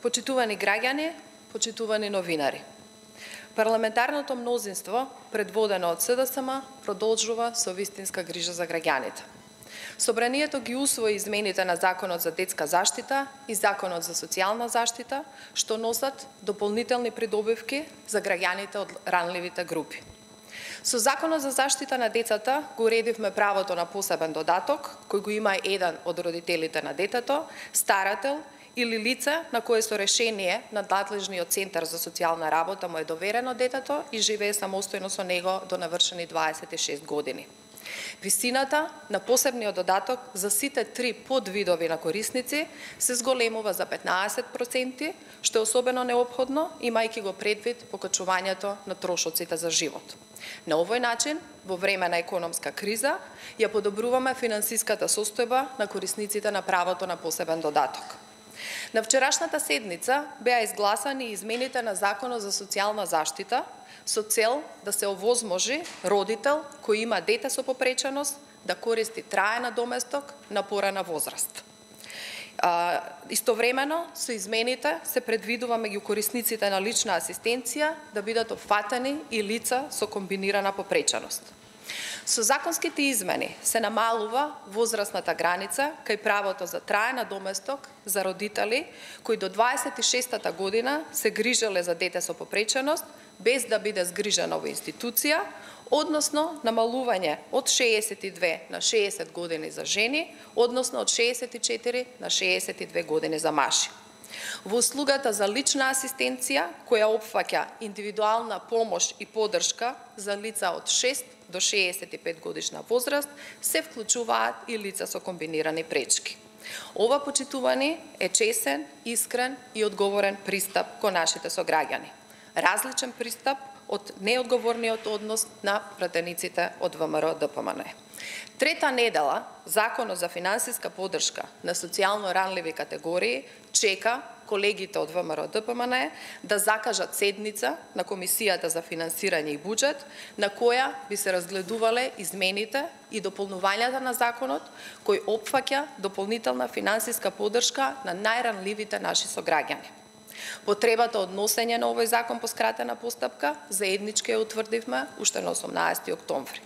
Почитувани граѓани, почитувани новинари. Парламентарното мнозинство, предводено од СДСМ, продолжува со вистинска грижа за граѓаните. Собранието ги усвои измените на Законот за детска заштита и Законот за социјална заштита, што носат дополнителни придобивки за граѓаните од ранливите групи. Со Законот за заштита на децата го уредивме правото на посебен додаток, кој го има еден од родителите на детето, старател или лице на кое со решение на надлежниот центар за социјална работа му е доверено детето и живее самостојно со него до навршени 26 години. Висината на посебниот додаток за сите три подвидови на корисници се зголемува за 15%, што е особено неопходно, имајќи го предвид покачувањето на трошоците за живот. На овој начин, во време на економска криза, ја подобруваме финансиската состојба на корисниците на правото на посебен додаток. На вчерашната седница беа изгласани измените на Законот за социјална заштита со цел да се овозможи родител кој има дете со попреченост да користи траен надоместок на порана возраст. Истовремено со измените се предвидува меѓу корисниците на лична асистенција да бидат опфатени и лица со комбинирана попреченост. Со законските измени се намалува возрастната граница кај правото за траен надоместок за родители кои до 26-та година се грижеле за дете со попреченост без да биде згрижено во институција, односно намалување од 62 на 60 години за жени, односно од 64 на 62 години за мажи. Во услугата за лична асистенција, која опфаќа индивидуална помош и поддршка за лица од 6 до 65 годишна возраст, се вклучуваат и лица со комбинирани пречки. Ова, почитувани, е чесен, искрен и одговорен пристап кон нашите сограѓани. Различен пристап од неодговорниот однос на пратениците од ВМРО-ДПМН. Трета недела, Законот за финансиска поддршка на социјално ранливи категории чека колегите од ВМРО-ДПМН да закажат седница на Комисијата за финансирање и буџет, на која би се разгледувале измените и дополнувањата на законот, кој опфаќа дополнителна финансиска поддршка на најранливите наши сограѓани. Потребата од носење на овој закон по скратена постапка заеднички ја утврдивме уште на 18 октомври.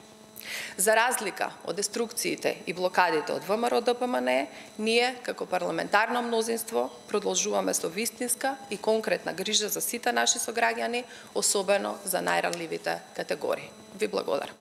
За разлика од деструкциите и блокадите од ВМРО-ДПМН, ние, како парламентарно мнозинство, продолжуваме со вистинска и конкретна грижа за сите наши сограѓани, особено за најранливите категории. Ви благодарам.